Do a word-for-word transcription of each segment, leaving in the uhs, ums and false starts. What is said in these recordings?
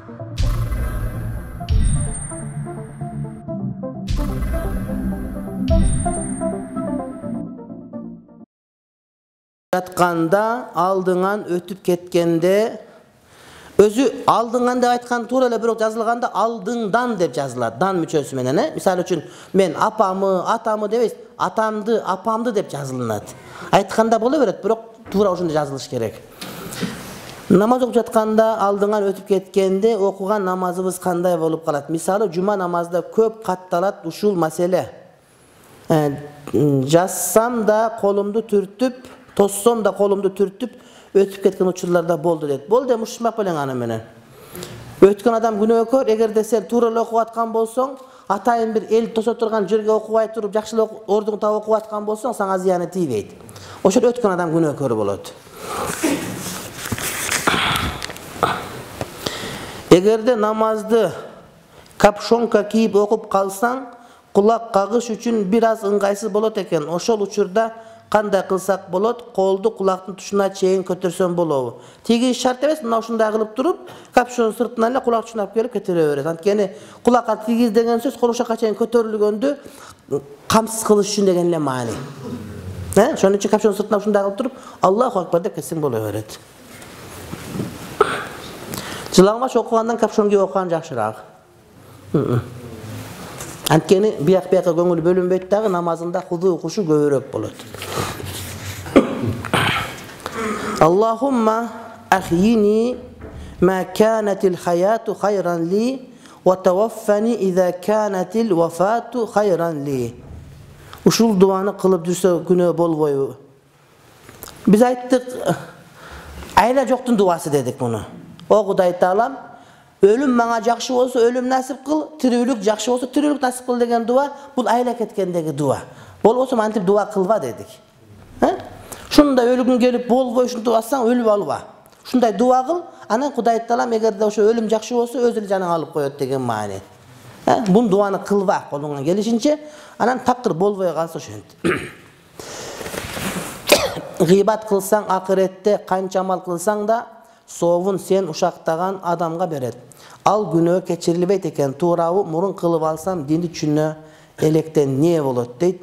Жатканда алдыңан өтүп кеткенде өзү алдыңан деп айткан туура эле, бирок жазылганда алдыңдан деп жазылат. Дан мүчөсү менен, э? Мисалы үчүн мен апамы, атамы дебейс, атамды, апамды деп жазылынат. Айтканда боло берет, бирок туура ошондой жазылыш керек. Намаз окуп жатканда алдыңан өтүп кеткенде окуган намазыбыз кандай болуп калат? Мисалы жума намазда көп катталат ушул маселе. Жазсам да колумду түртүп, тоссом да колумду түртүп өтүп кеткен учурларда болду дейт. Болду эми ушунак белең аны менен. Өткөн адам күнөөкөр, эгерде сен туура эле окуп аткан болсоң, атайын бир эл тосо турган жерге окубай туруп, жакшы эле ордуң таап окуп аткан болсоң, сага зыяны тийбейт. Ошол өткөн адам күнөөкөр болот. Эгерде намазды капшонка кийип окуп калсаң, кулак кагыш үчүн бир аз ыңгайсыз болот экен. Ошол учурда кандай кылсак болот? Колду кулактын тушуна чейин көтөрсөң болобу? Тиги шарт эмес, мына ушундай кылып туруп, капшон сыртынан эле кулак тушуна алып келип кетире берет. Анткени кулакка тигиз деген сөз кол ошакка чейин көтөрүлгөндү камсыз кылыш үчүн деген эле маани. Э? Ошон үчүн капшон сыртына ушундай кылып туруп, Аллаху акбар деп кетсең боло берет. Жылаңбаш окугандан капшон кийип окуган жакшыраак. Анткени бияк-бияка көңүл бөлүнбөйт дагы, намазында худу кушу көбүрөөк болот. Аллахумма ахйини ма канатил хаяту хайран ли ва таваффани иза канатил вафату хайран ли. Ушул дуаны кылып жүрсө күнөө болбойбу? Биз айттык, айла жоктун дуасы дедик муну. О Кудай Таалам, өлүм мага жакшы болсо өлүм насип кыл, тирүүлүк жакшы болсо тирүүлүк насип кыл деген дуа, бул айла кеткендеги дуа. Болбосо мантип дуа кылба дедик. Э? Ушундай өлүгүң келип болбой ушинтип алсаң өлүп алба. Ушундай дуа кыл, анан Кудай Таалам эгерде ошо өлүм жакшы болсо өз эле жаның алып коет деген маани. Э? Бул дуаны кылба колуңан келишинче, анан такыр болбой калса ошентип. Гыйбат кылсаң акыретте канча амал кылсаң да соовун сен ушактаган адамга берет. Ал күнөө кечирилбейт экен, туурабы? Мурун кылып алсам динди түшүнө электен не болот дейт.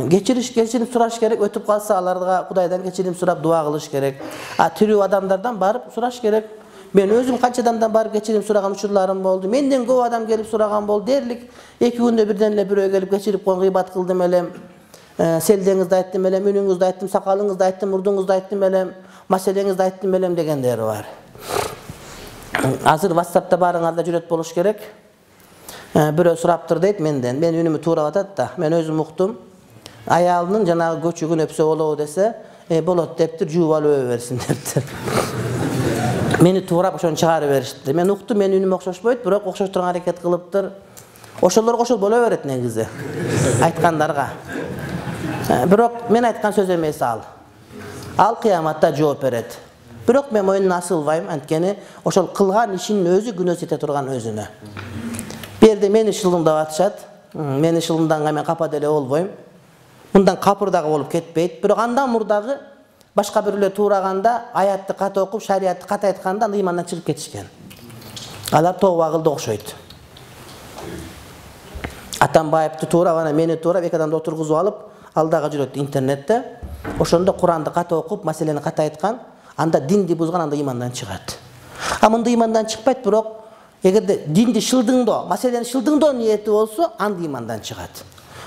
Кечириш, кечирим сураш керек, өтүп калса аларга Кудайдан кечирим сурап дуа кылыш керек. А тирүү адамдардан барып сураш керек. Мен өзүм канча адамдан барып кечирим сураган учурларым болду. Менден көп адам келип сураган болду. Дерлик эки күндө бирден эле бирөө келип кечирип койгон, гыйбат кылдым элем. Селдеңизди айттым элем, үнүңүздү айттым, сакалыңызды айттым, мурдуңузду айттым элем, маселеңизди айттым элем дегендери бар. Азыр WhatsApp'та барыңарда жүрөт болуш керек. Бирөө сураптыр дейт менден. Мен үнүмү туурап атат да. Мен өзүм уктум. Аялынын жанагы көчүгүн өпсө болобу десе, "Э, болот" дептир, жууп алып өбө берсин дептир. Мени туурап ошону чыгарып беришти. Мен уктум, менин үнүм окшошпойт, бирок окшош турган аракет кылыптыр. Ошолорго ошол боло берет негизи. Айткандарга. Бирок мен айткан сөз эмес ал. Ал кыяматта жооп берет. Бирок мен мойнуна асылбайм, анткени ошол кылган ишинин өзү күнөөсү ете турган өзүнө. Берде мени шылымдап атышат. Мени шылымданга мен капа деле болбойм. Мындан капырдагы болуп кетпейт. Бирок андан мурдагы башка бирлер туураганда, аятты ката окуп, шариятты ката айтканда ыймандан чыгып кетишкен. Алар тооба кылды окшойт. Атамбаевди туурап, анан мени туурап, эки адамды отургузуп алып, алдага жүрөт интернетте. Ошондо Куранды ката окуп, маселени ката айткан, анда динди бузган, анда ыймандан чыгат. А мында ыймандан чыкпайт, бирок эгерде динди шылдыңдоо, маселени шылдыңдоо ниети болсо, анда ыймандан чыгат.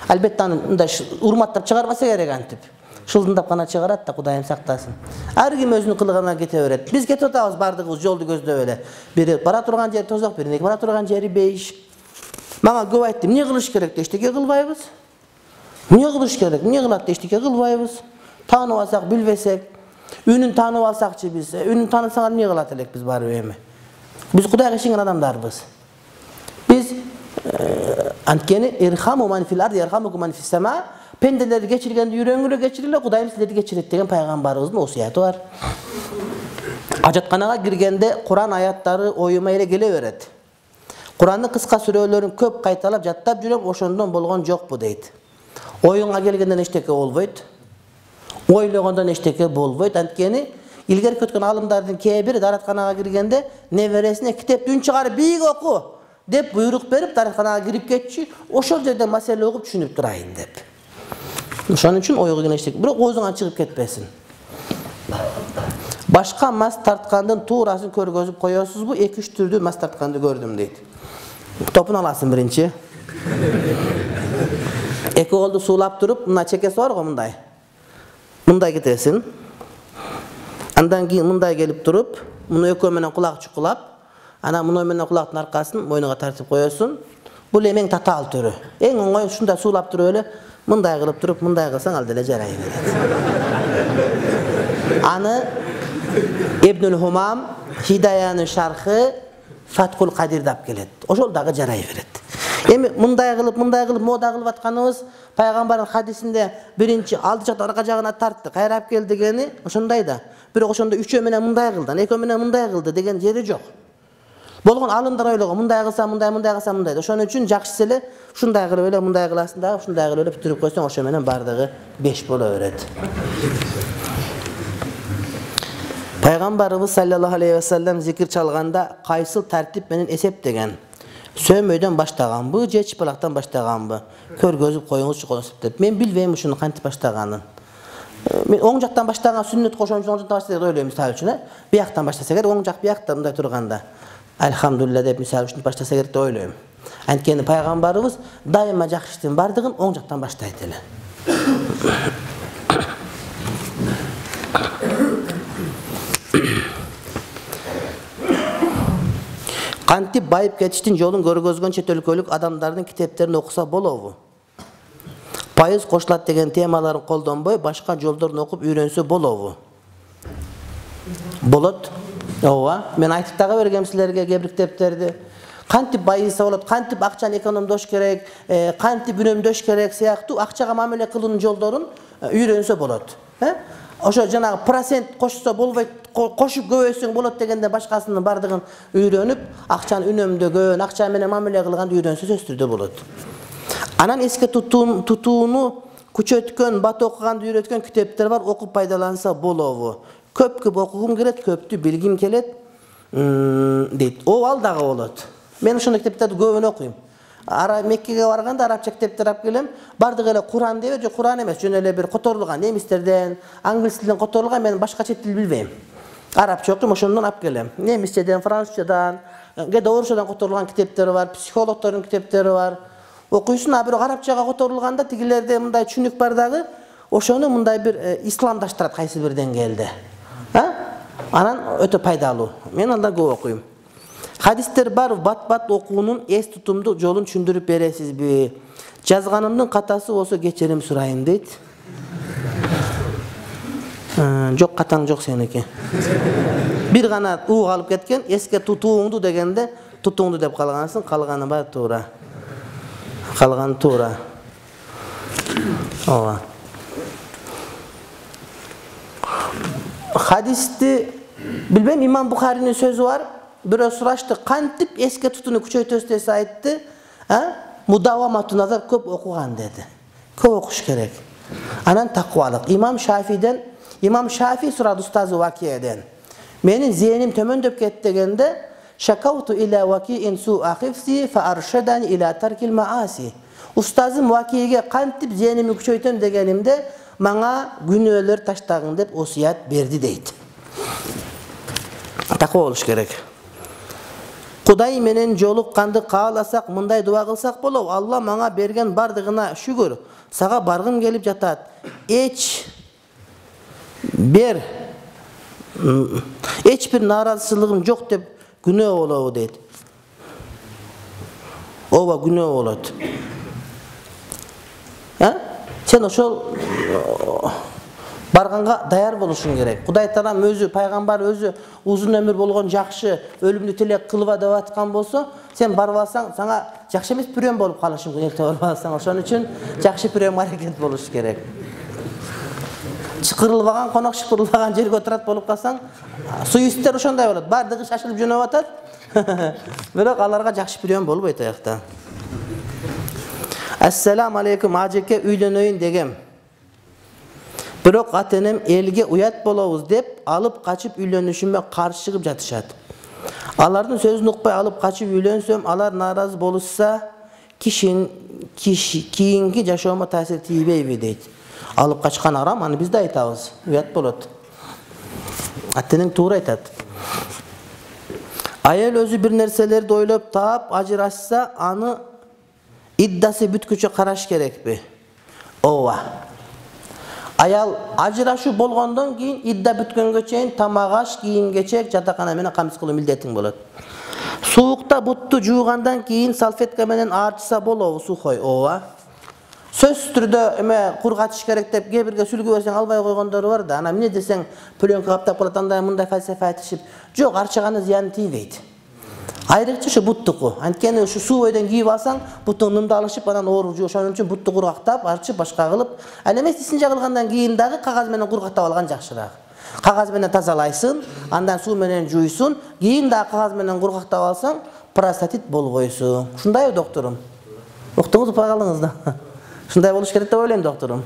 Албетте аны мындай урматтап чыгарбаса керек антип. Шылдыңдап гана чыгарат да, Кудайым сактасын. Ар ким өзүнүн кылыгына кете берет. Биз кетип атабыз бардыгыбыз жолду көздөп эле. Бири бара турган жери тозок, бири бара турган жери бейиш. Мага көп айтты, эмне кылыш керек деп, эчтеке кылбайбыз. Эмне кылыш керек, эмне кылат деп, эчтеке кылбайбыз. Таанып алсак, билбесек, үнүн таанып алсакчы биз, үнүн таанысаңар эмне кылат элек биз барып эми. Биз Кудайга ишенген адамдарбыз. Биз анткени ирхаму ман фил арди ярхамукум ман фис сама, пенделерди кечиргенди үйрөнгүлө кечириле, Кудайым силерди кечирет деген пайгамбарыбыздын осуяты бар. Ажатканага киргенде Куран аяттары оюма эле келе берет. Курандын кыска сүрөлөрүн көп кайталап жаттап жүрөм, ошондон болгон жокпу дейт. Оюңа келгенден эчтеке болбойт. Ойлогондон эчтеке болбойт. Анткени Илгерки өткөн алымдардын кээ бири даратканага киргенде небересине китепти үн чыгарып бийик оку деп буйрук берип даратканага кирип кетчү, ошол жерде маселе угуп түшүнүп турайын деп. Ошон үчүн ойго кеңештик, бирок оозуңан чыгып кетпесин. Башка мас тарткандын туурасын көргөзүп коесузбу? эки үч түрдүү мас тартканды көрдүм дейт. Топун аласың биринчи. Эки колду суулап туруп, мына чекеси бар го мындай. Мындай кетесиң. Андан кийин мындай келип туруп, муну экөө менен кулак чукулап, ана муну менен кулактын аркасын мойнуга тартып коесуң. Бул эң татаал түрү. Эң оңой ушундай суулап туруп эле мындай кылып туруп, мындай кылсаң ал деле жарай берет. Аны Ибнул Хумам Хидаянын шархы Фаткул Кадирде алып келет. Ошол дагы жарай берет. Эми мындай кылып, мындай кылып мода кылып атканыбыз пайгамбардын хадисинде биринчи алды жактан арка жагына тартты, кайра алып кел дегени ошондой да. Бирок ошондо үчөө менен мындай кылды, экөө менен мындай кылды деген жери жок. Болгон алымдар ойлогон, мындай кылса мындай, мындай кылса мындай. Ошон үчүн жакшысы эле ушундай кылып эле мындай кыласың дагы, ушундай кылып эле бүтүрүп койсоң, ошо менен бардыгы беш боло берет. Пайгамбарыбыз саллаллаху алейхи ва саллям зикир чалганда кайсыл тартип менен эсептеген? Сөмөйдөн баштаганбы, же чыпалактан баштаганбы? Көргөзүп коюңузчу консеп деп. Мен билбейм ушуну кантип баштаганын. Мен оң жактан баштаган сүннөт кошон үчүн оң жактан баштаса деп ойлойм мисалы үчүн, э? Бияктан баштаса керек, оң жак биякта мындай турганда. Альхамдулилля деп мисалы үчүн баштаса керек деп ойлойм. Анткени пайгамбарыбыз дайыма жакшы иштин бардыгын оң жактан баштайт эле. Кантип байып кетиштин жолун көргөзгөн чет өлкөлүк адамдардын китептерин окуса болобу? Пайыз кошулат деген темаларын колдонбой, башка жолдорун окуп үйрөнсө болобу? Болот. Ооба, мен айтып дагы бергем силерге кээ бир китептерди. Кантип байыса болот, кантип акчаны экономдош керек, кантип үнөмдөш керек сыяктуу акчага мамиле кылуунун жолдорун үйрөнсө болот. Ошо жанагы процент кошсо болбойт, кошуп көбөйсөң болот дегенде башкасынын бардыгын үйрөнүп, акчаны үнөмдөгөн, акча менен мамиле кылганды үйрөнсө сөзсүз түрдө болот. Анан эске тутууну күчөткөн, бат окуганды үйрөткөн китептер бар, окуп пайдаланса болобу? Көп-көп окугум келет, көптү билгим келет, дейт. О, ал дагы болот. Мен ошондой китептерди көбүн окуйм. Ара Меккеге барганда арабча китептер алып келем. Бардыгы эле Куран деп, же Куран эмес, жөн эле бир которулган немистерден, англис тилинен которулган, мен башка чет тил билбейм. Арабча окуйм, ошондон алып келем. Немисчеден, французчадан, кээде орусчадан которулган китептери бар, психологдордун китептери бар. Окуйсуң, а бирок арабчага которулганда тигилерде мындай түшүнүк бар дагы, ошону мындай бир исламдаштырат кайсы бир деңгээлде. Анан өтө пайдалуу. Мен алда көп окуйм. Хадистер бар, бат-бат окуунун эс тутумдуу жолун түшүндүрүп бересизби? Жазганымдын катасы болсо кечирим сурайын дейт. Жок, катаң жок сеники. Бир гана уу калып кеткен, эске тутууңду дегенде тутууңду деп калгансың, калганы бар туура. Калганы туура. Ооба. Хадисти билбейм, Имам Бухаринин сөзү бар. Бирөө сурашты, кантип эске тутууну күчөйтөсүз десе айтты, мудавамату назар, көп окуган деди. Көп окуш керек. Анан таквалык. Имам Шафиден, Имам Шафи сурады устазы Вакиеден. Менин зээним төмөндөп кетти дегенде, шакауту иля Вакиин суа хифси фа аршадани иля таркил мааси. Устазым Вакиеге кантип зээними күчөйтөм дегенимде, мага күнөөлөр таштагын деп осуят берди дейт. Таква болуш керек. Кудай менен жолукканды кааласак, мындай дуа кылсак болобу? Алла мага берген бардыгына шүгүр. Сага баргым келип жатат. Эч бер эч бир нааразычылыгым жок деп күнөө болобу дейт. Ооба, күнөө болот. А? Сен ошол барганга даяр болушуң керек. Кудай Таалам өзү, пайгамбар өзү узун өмүр болгон жакшы өлүмдү тилек кылба деп аткан болсо, сен барып алсаң, сага жакшы эмес пүрөм болуп калышың керек деп барып алсаң. Ошон үчүн жакшы пүрөм аракет болуш керек. Чыкырылбаган конок шыпырылбаган жерге отурат болуп калсаң, суюстер ошондой болот. Бардыгы шашылып жөнөп атат. Бирок аларга жакшы пүрөм болбойт аякта. Ассаламу алейкум, ажеке, үйлөнөйүн дегем. Бирок ата-энем элге уят болобуз деп алып качып үйлөнүшүмө каршы чыгып жатышат. Алардын сөзүн укпай алып качып үйлөнсөм, алар нааразы болушса, кишин кийинки жашоомо таасир тийбейби дейт. Алып качкан арам, аны биз да айтабыз. Уят болот. Ата-энең туура айтат. Аял өзү бир нерселерди ойлоп таап ажырашса, аны иддасы бүткүчө караш керекпи? Ооба. Аял ажырашуу болгондон кийин идда бүткөнгө чейин тамак аш, кийим-кечек, жатакана менен камсыз кылуу милдетиң болот. Суукта бутту жуугандан кийин салфетка менен аарчыса болобу сухой? Ооба. Сөзсүз түрдө эме кургатыш керек деп кээ бирге сүлгү берсең албай койгондору бар да. Ана эмне десең пленка каптап калат, андай мындай фальсафа айтышып, жок, арчыганы зыяны тийбейт. Айрыкча ушу буттуку. Анткени ушу суу бойдон кийип алсаң, буттуң нымды алышып, анан ооруп жуу. Ошон үчүн бутту кургактап, арчып, башка кылып, ал эмес исинче кылгандан кийин дагы кагаз менен кургактап алган жакшыраак. Кагаз менен тазалайсың, андан суу менен жуйсуң, кийин дагы кагаз менен кургактап алсаң, простатит болбойсуң. Ушундайбы, докторум? Уктуңуз, укпай калдыңыз да. Ушундай болуш керек деп ойлойм, докторум.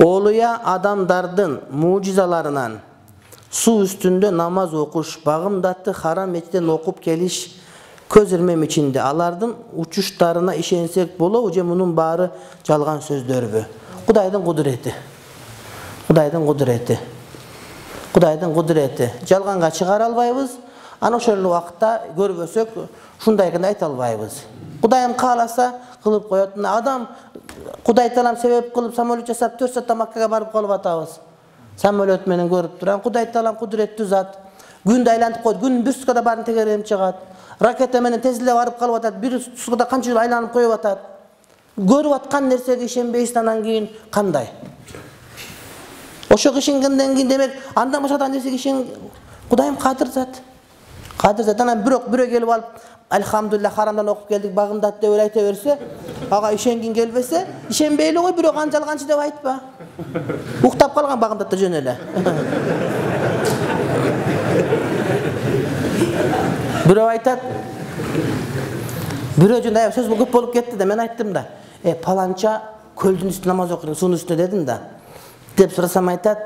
Олуя адамдардын мужизаларынан суу үстүндө намаз окуш, багымдатты харам мечиттен окуп келиш көз ирмем ичинде. Алардын учуштарына ишенсек болобу же мунун баары жалган сөздөрбү? Кудайдын кудурети. Кудайдын кудурети. Кудайдын кудурети. Жалганга чыгара албайбыз. Ана ошол убакта көрбөсөк, ушундай экен айта албайбыз. Кудайым кааласа кылып коет. Адам Кудай таалам себеп кылып самолет жасап төрт саатта Маккага барып калып атабыз. Самолет менен көрүп турам. Кудай таалам кудуреттүү зат. Күндү айлантып коет. Күндүн бир суткада баарын тегеренип чыгат. Ракета менен тезилеп барып калып атат. Бир суткада канча жыл айланып коюп атат. Көрүп аткан нерсеге ишенбейсиз, анан кийин кандай? Ошого ишенгенден кийин демек андан башка нерсеге ишен. Кудайым кадыр зат. Кадыр зат. Анан бирок бирөө келип алып, Альхамдулилlah, харамдан окуп келдик, багымдат деп айта берсе, ага ишенгин келбесе, ишенбейли кой, бирок аны жалганчы деп айтпа. Уктап калган багымдатта жөн эле. Бирөө айтат, бирөө жөн сөз көп болуп кетти да, мен айттым да. Э, паланча көлдүн үстүндө намаз окуйт, суунун үстүндө дедим да. Деп сурасам айтат,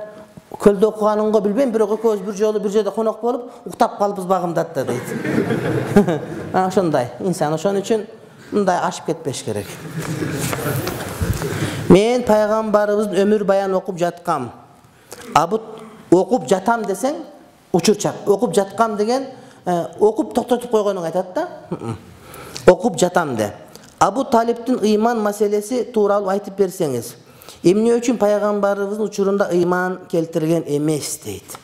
көлдө окуганыңго билбейм, бирок экөөбүз бир жолу бир жерде конок болуп, уктап калыпбыз багымдатта дейт. Ошондой инсан, ошон үчүн мындай ашып кетпеш керек. Мен пайгамбарыбыздын өмүр баян окуп жаткам. Абут окуп жатам десең, учурчак. Окуп жаткам деген окуп токтотуп койгонун айтат да. Окуп жатам де. Абу Талиптин ыйман маселеси тууралуу айтып берсеңиз. Эмне үчүн пайгамбарыбыздын учурунда ыйман келтирген эмес дейт.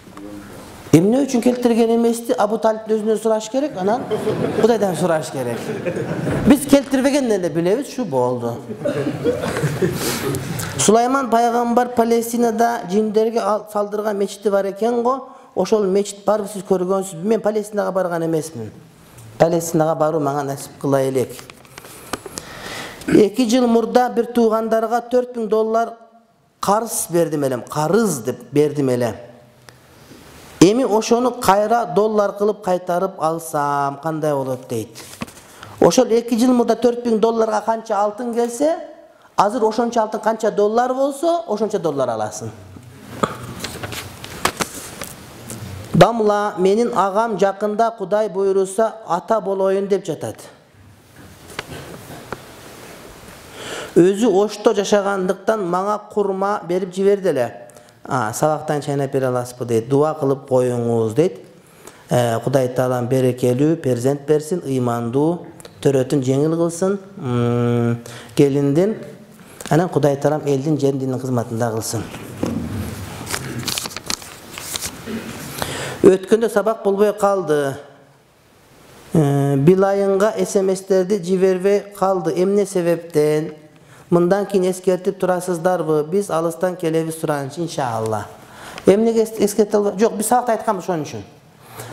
Эмне үчүн келтирген эмести Абу Талиптин өзүнөн сураш керек, анан Кудайдан сураш керек. Биз келтирбеген эле билебиз, шу болду. Сулайман пайгамбар Палестинада жиндерге салдырган мечити бар экен го. Ошол мечит барбы, сиз көргөнсүзбү? Мен Палестинага барган эмесмин. Палестинага баруу мага насип кыла элек. эки жыл мурда бир туугандарга төрт миң доллар карыз бердим элем. Карыз деп бердим эле. Эми ошону кайра доллар кылып кайтарып алсам кандай болот дейт. Ошол эки жыл мурда төрт миң долларга канча алтын келсе, азыр ошончо алтын канча доллар болсо, ошончо доллар аласың. Дамла, менин агам жакында Кудай буйруса ата болоюн деп жатат. Өзү Ошто жашагандыктан мага курма берип жиберди эле. А, сабактан чайнап бере аласызбы дейт. Дуа кылып коюңуз дейт. Кудай таалам берекелүү перзент берсин, ыймандуу, төрөтүн жеңил кылсын, келиндин, анан Кудай таалам элдин жерин диндин кызматында кылсын. Өткөндө сабак болбой калды. Билайынга смстерди жибербей калды. Эмне себептен? Мындан кийин эскертип турасыздарбы? Биз алыстан келебиз суранчы, иншалла. Эмнеге эскерте албай? Жок, биз сабакта айтканбыз ошон үчүн.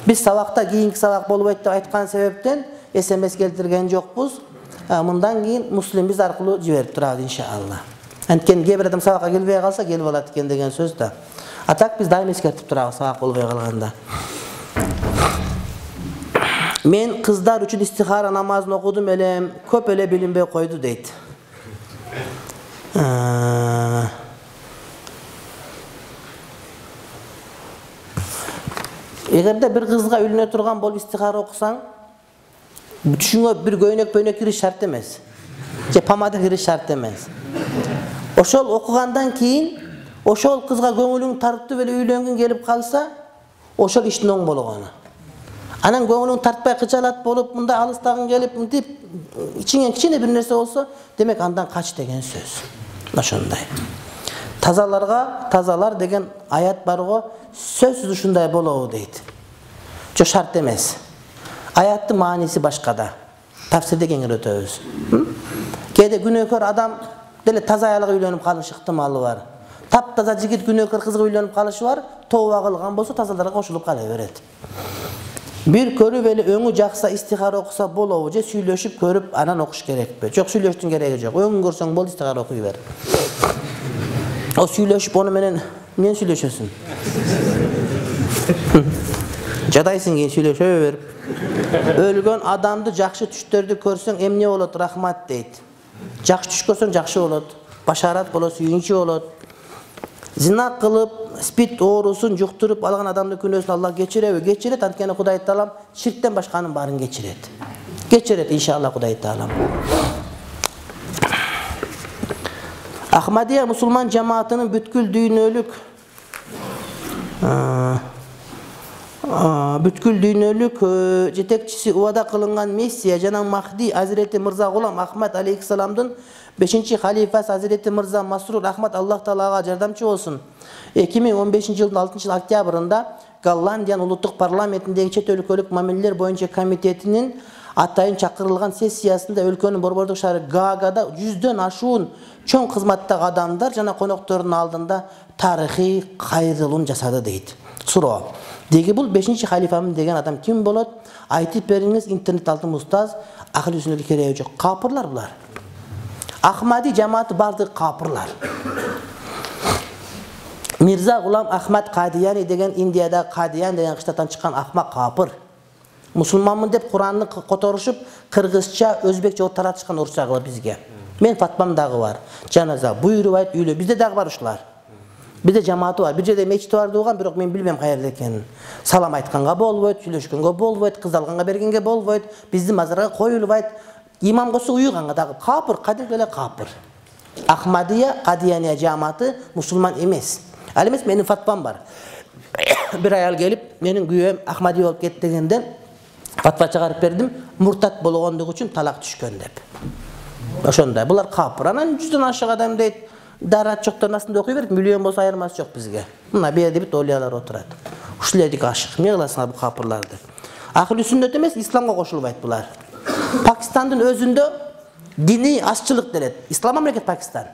Биз сабакта кийинки сабак болбойт деп айткан себептен смс келтирген жокпуз. Мындан кийин муслим биз аркылуу жиберип турабыз, иншалла. Анткени кээ бир адам сабакка келбей калса, келип алат экен деген сөз да. А так биз дайым эскертип турабыз сабак болбой калганда. Мен kızlar üçün istihara namazını okudum elem, köp ele bilinbey koydu deydi. Эгерде bir kızga ülüne turgan bolup istihara okusan, düşünüp bir göynök pöynök kiriş şart emez. Je pamada kiriş şart emez. Oşol okugandan keyin, oşol kızga göңүлүң tartып эле үйлөнгүң келип kalsa, oşol işin oң болгону. Anan göңүлүң tartpay kıçalat bolup, munda alыстагың келип, мынтип içiңен кичине bir нерсе болсо, демек андан kaç деген сөз. Ошондой. Тазаларга тазалар деген аят бар го, сөзсүз ушундай болобу дейт. Жо шарт эмес. Аяттын мааниси башкада. Tafsirde kengir ötöbüz. Kede günökör adam dele таза аялга үйлөнүп калыш ыктымалы бар. Таптаза жигит günökör кызга үйлөнүп калышы бар, тооба кылган болсо тазаларга кошулуп кала берет. Bir көрүп эле өңү жакса истихара окуса болобу же сүйлөшүп көрүп анан окуш керекпи? Жок, сүйлөштүн кереги жок. Өңүн көрсөң бол истихара окуй бер. O сүйлөшүп ону менен мен сүйлөшөсүң. Жадайсың кийин сүйлөшө берип. Өлгөн адамды жакшы түштөрдү көрсөң эмне болот? Рахмат дейт. Жакшы түш көрсөң жакшы болот. Башарат болот, сүйүнчү болот. Зина кылып, спид оорусун жуктуруп алган адамдын күнөөсүн Аллах кечиреби? Кечирет, анткени Кудай Таалам ширктен башканын баарын кечирет. Кечирет иншалла Кудай Таалам. Ахмадия мусулман жамаатынын бүткүл дүйнөлүк бүткүл дүйнөлүк жетекчиси убада кылынган Мессия жана Махди Азирети Мырза Гулам Ахмад алейхиссаламдын бешинчи халифасы Азирети Мырза Масрур Ахмад Аллах Таалага жардамчы болсун. эки миң он бешинчи жылдын алтынчы октябрында Голландиянын улуттук парламентиндеги чет өлкөлүк мамилелер боюнча комитетинин атайын чакырылган сессиясында өлкөнүн борбордук шаары Гаагада жүздөн ашуун чоң кызматтагы адамдар жана коноктордун алдында тарыхый кайрылуун жасады дейт. Суроо. Деги бул бешинчи халифамын деген адам ким болот? Айтып бериңиз, интернет алтын устаз, акыл жүзүнө кереги жок. Капырлар булар. Ахмади жамааты бардыгы капырлар. Мирза Гулам Ахмад Кадияни деген Индияда Кадиян деген кыштаттан чыккан акмак капыр. Мусулманмын деп Куранны которушуп, кыргызча, өзбекче от таратышкан урчагы бизге. Мен фатмам дагы бар. Жаназа буйрубайт үйлө. Бизде дагы бар ушулар. Бизде жамааты бар. Бир жерде мечит бар деган, бирок мен билбем каерде экенин. Салам айтканга болбойт, сүйлөшкөнгө болбойт, кыз алганга бергенге болбойт, биздин мазарга коюлбайт. Имам косу уйганга дагы капыр, кадимки эле капыр. Ахмадия, Кадияния жамааты мусулман эмес. Ал эмес менин фатвам бар. Бир аял келип, менин күйөөм Ахмадия болуп кетти дегенде фатва чыгарып бердим, муртат болгондугу үчүн талак түшкөн деп. Ошондой. Булар капыр. Анан жүздөн ашык адам дейт, дарат жоктон астында окуй берет, миллион болсо айырмасы жок бизге. Мына берди бит олиялар отурат. Ушулердик ашык. Эмне кыласыңар бул капырларды? Акыл сүннөт эмес, исламга кошулбайт булар. Пакистандын өзүндө диний азчылык делет. Ислам мамлекет Пакистан.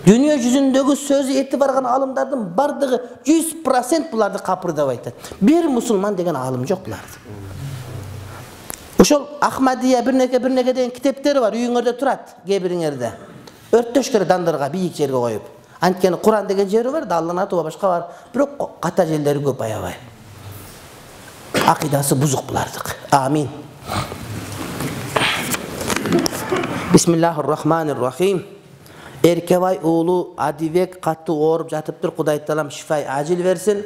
Дүйнө жүзүндөгү сөзү эти барган алымдардын бардыгы жүз процент буларды капыр деп айтат. Бир мусулман деген алым жок буларды. Ошол Ахмадия бирнеке бирнеке деген китептери бар, үйүңөрдө турат, кээ бириңерде. Өрттөш керек дандырга, бийик жерге коюп. Анткени Куран деген жери бар, Алланын аты башка бар, бирок ката жерлери көп аябай. Акыйдасы бузук булардык. Амин. Бисмиллахир-рахманир-рахим. Эркебай уулу Адибек катты ооруп жатыптыр. Кудай Таалам шифай ажил берсин.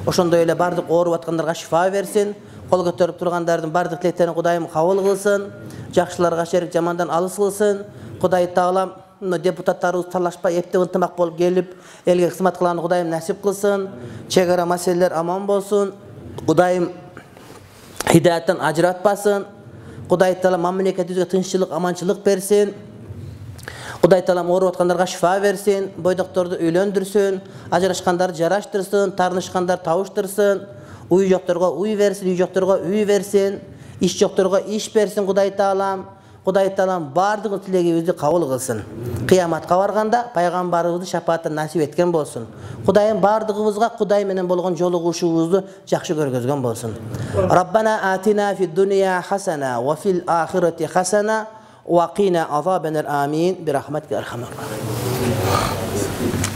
Ошондой эле бардык ооруп аткандарга шифа берсин. Кол көтөрүп тургандардын бардык тилектерин Кудайым кабыл кылсын. Жакшыларга шерик, жамандан алыс кылсын. Кудай Таалам депутаттарыбыз талашпай эптеп ынтымак болуп келип, элге кызмат кылганы Кудайым насип кылсын. Чек ара маселелер аман болсун. Кудайым хидаяттан ажыратпасын. Кудай Таалам мамлекетибизге тынччылык, аманчылык берсин. Кудай Таалам ооруп аткандарга шифа берсин, бойдокторду үйлөндүрсүн, ажырашкандарды жараштырсын, таарынышкандар табыштырсын, уй жокторго уй берсин, үй жокторго үй берсин, иш жокторго иш берсин Кудай Таалам. Кудай Таалам бардык тилегибизди кабыл кылсын. Кыяматка барганда пайгамбарыбызды шапааттан насип эткен болсун. Кудайым бардыгыбызга Кудай менен болгон жолугушуубузду жакшы көргөзгөн болсун. Раббана атина фид дунья хасана ва фил ахирати хасана ва кина азабанар амин би рахматика архамар рахим.